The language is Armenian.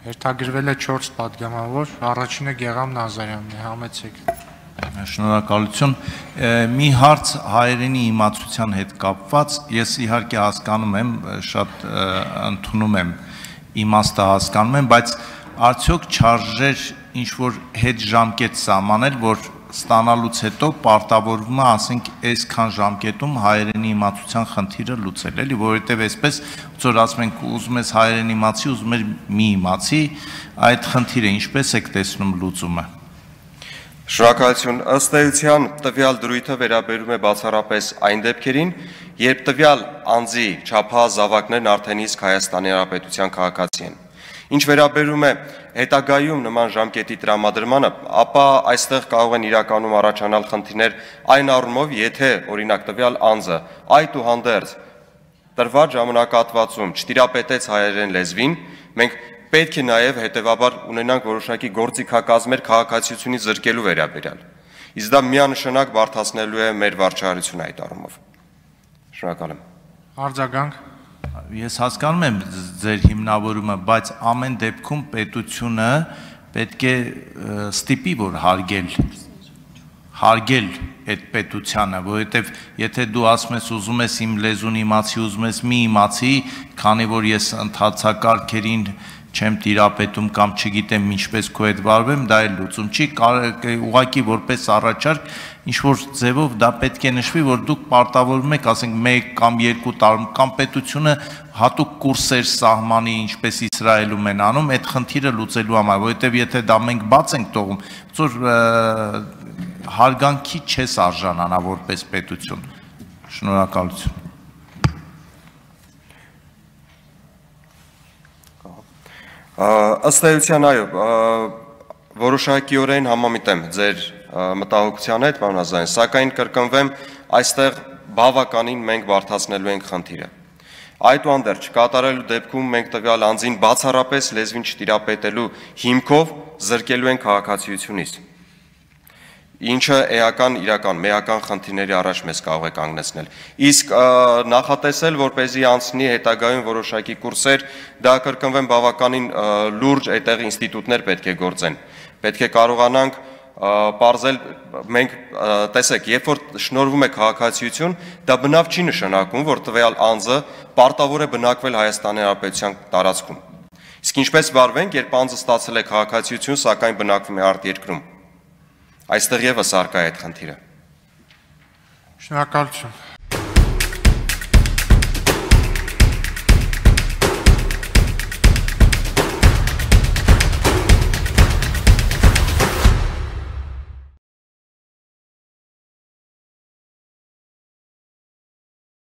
Հերթագրվել է 4 պատգամավոր, առաջինը Գեղամ Նազարյանն է, համեցեք։ Շնորհակալություն։ Մի հարց հայերենի իմացության հետ կապված, ես իհարկե հասկանում եմ, շատ ընդունում եմ, իմաստը հասկանում եմ, բայց արդյոք չարժեր ինչ-որ հետ ժամկետ սահմանել, որ ստանալուց հետո պարտավորվում է, ասենք, այսքան ժամկետում հայերենի իմացության խնդիրը լուծել, էլի, որովհետև այսպես, որ ասում ենք, ուզում ես հայերեն իմացի, ուզում ես մի իմացի, այդ խնդիրը ինչպես եք տեսնում լուծումը։ Շնորհակալություն, ըստ էության տվյալ դրույթը վերաբերում է բացառապես այն դեպքերին, երբ տվյալ անձի չափահաս զավակներն արդեն իսկ Հայաստանի Հանրապետության քաղաքացի են։ Ինչ վերաբերում է հետագայում նման ժամկետի տրամադրմանը, ապա այստեղ կարող են իրականում առաջանալ խնդիրներ այն առումով, եթե օրինակ տվյալ անձը այդուհանդերձ տրված ժամանակահատվածում չտիրապետեց հայերեն լեզվին, մենք պետք է նաև հետևաբար ունենանք որոշակի գործիքակազմեր քաղաքացիությունից զրկելու վերաբերյալ։ Իսկ դա միանշանակ բարդացնելու է մեր վարչահարությունը այդ առումով։ Շնորհակալ եմ։ Արձագանք։ Ես հասկանում եմ ձեր հիմնավորումը, բայց ամեն դեպքում պետությունը պետք է ստիպի, որ հարգել այդ պետությանը, որովհետև եթե դու ասում ես ուզում ես իմ լեզուն իմացի, ուզում ես մի իմացի, քանի որ ես ընթացակարգերին չեմ տիրապետում կամ չգիտեմ ինչպես քո հետ վարվեմ, դա էլ լուծում չի, ուղղակի որպես առաջարկ ինչ-որ ձևով դա պետք է նշվի, որ դուք պարտավորվում եք, ասենք 1 կամ 2 տարում կամ պետությունը հատուկ կուրսեր սահմանի, ինչպես Իսրայելում են անում, այդ խնդիրը լուծելու համար, որովհետև եթե դա մենք բաց ենք թողում, որ հարգանքի չես արժանանա որպես պետություն։ Շնորհակալություն։ Ըստ էության, այո, որոշակիորեն համամիտ եմ ձեր մտահոգության հետ, պարոն Ազարյան, սակայն կրկնվեմ, այստեղ բավականին մենք բարդացնելու ենք խնդիրը։ Այդուհանդերձ կատարելու դեպքում մենք տվյալ անձին բացառապես լեզվին չտիրապետելու հիմքով զրկելու ենք քաղաքացիությունից, ինչը մեական խնդիրների առաջ մեզ կարող է կանգնեցնել։ Իսկ նախատեսել, որպեսզի անցնի հետագայում որոշակի կուրսեր, դա կրկնվեմ բավականին լուրջ այդտեղ ինստիտուտներ պետք է գործեն։ Պետք է կարողանանք պարզել, մենք տեսեք, երբ որ շնորհվում է քաղաքացիություն, դա բնավ չի նշանակում, որ տվյալ անձը պարտավոր է բնակվել Հայաստանի Հանրապետության տարածքում։ Իսկ ինչպես վարվենք, երբ անձը ստացել է քաղաքացիություն, սակայն բնակվում է արտերկրում։ Այստեղ եւս արկա է այդ խնդիրը։ Շնորհակալություն։